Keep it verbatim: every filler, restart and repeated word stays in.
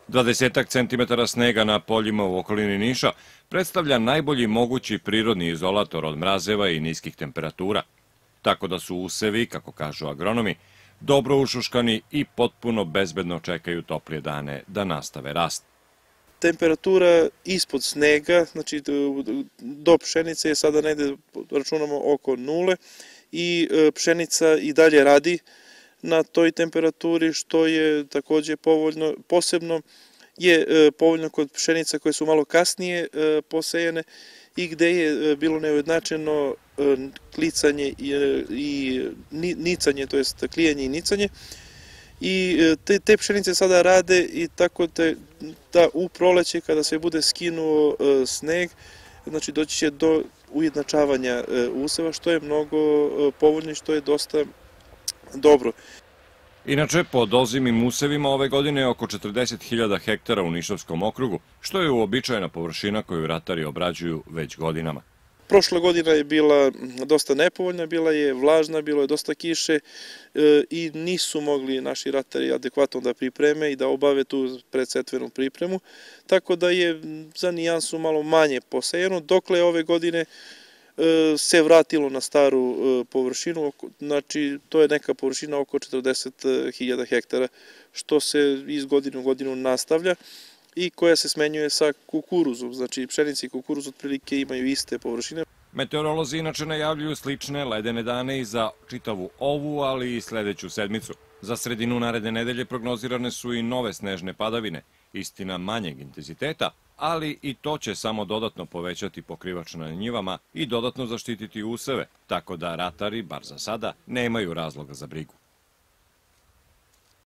Dvadesetak centimetara snega na poljima u okolini Niša predstavlja najbolji mogući prirodni izolator od mrazeva i niskih temperatura, tako da su usevi, kako kažu agronomi, dobro ušuškani i potpuno bezbedno čekaju toplije dane da nastave rast. Temperatura ispod snega, znači do pšenice je sada negde, računamo, oko nule i pšenica i dalje radi na toj temperaturi, što je takođe povoljno. Posebno je povoljno kod pšenica koje su malo kasnije posejane i gde je bilo neujednačeno klicanje i nicanje, to jest klijanje i nicanje. I te, te pšenice sada rade i tako te, da u proleće kada se bude skinuo sneg, znači doći će do ujednačavanja useva, što je mnogo povoljno i što je dosta dobro. Inače, pod ozimim usevima ove godine je oko četrdeset hiljada hektara u Nišavskom okrugu, što je uobičajena površina koju ratari obrađuju već godinama. Prošla godina je bila dosta nepovoljna, bila je vlažna, bilo je dosta kiše i nisu mogli naši ratari adekvatno da pripreme i da obave tu predsetvenu pripremu, tako da je za nijansu malo manje posejeno, dokle ove godine se vratilo na staru površinu, znači to je neka površina oko četrdeset hiljada hektara, što se iz godine u godinu nastavlja i koja se smenjuje sa kukuruzom, znači pšenica i kukuruz otprilike imaju iste površine. Meteorolozi inače najavljuju slične ledene dane i za čitavu ovu, ali i sledeću sedmicu. Za sredinu naredne nedelje prognozirane su i nove snežne padavine, istina manjeg intenziteta, ali i to će samo dodatno povećati pokrivač na njivama i dodatno zaštititi useve, tako da ratari, bar za sada, nemaju razloga za brigu.